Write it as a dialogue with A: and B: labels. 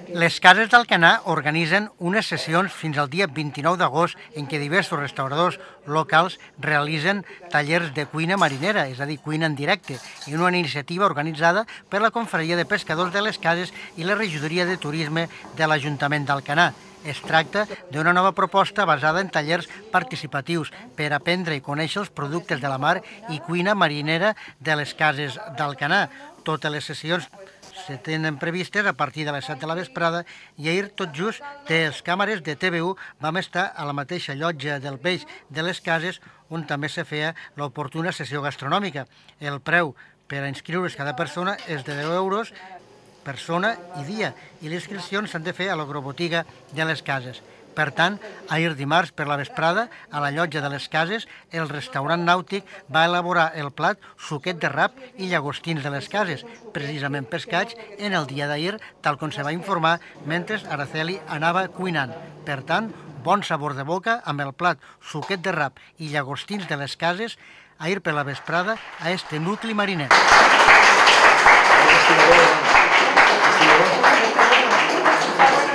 A: Les cases d'Alcanar organitzen unes sessions fins al dia 29 d'agost en què diversos restauradors locals realitzen tallers de cuina marinera, és a dir, cuina en directe, en una iniciativa organitzada per la Confraria de Pescadors de les Cases i la Regidoria de Turisme de l'Ajuntament d'Alcanar. Es tracta d'una nova proposta basada en tallers participatius per aprendre i conèixer els productes de la mar i cuina marinera de les cases d'Alcanar. Totes les sessions se tenen previstes a partir de les 7 de la vesprada i ahir tot just les càmeres de TV1 vam estar a la mateixa llotja del Peix de les Cases on també se feia l'oportuna sessió gastronòmica. El preu per a inscriure's cada persona és de 10 euros persona i dia i les inscripcions s'han de fer a l'agrobotiga de les Cases. Per tant, ahir dimarts per la vesprada, a la llotja de les Cases, el restaurant nàutic va elaborar el plat suquet de rap i llagostins de les Cases, precisament pescats en el dia d'ahir, tal com se va informar mentre Araceli anava cuinant. Per tant, bon sabor de boca amb el plat suquet de rap i llagostins de les Cases ahir per la vesprada a este nucli mariner.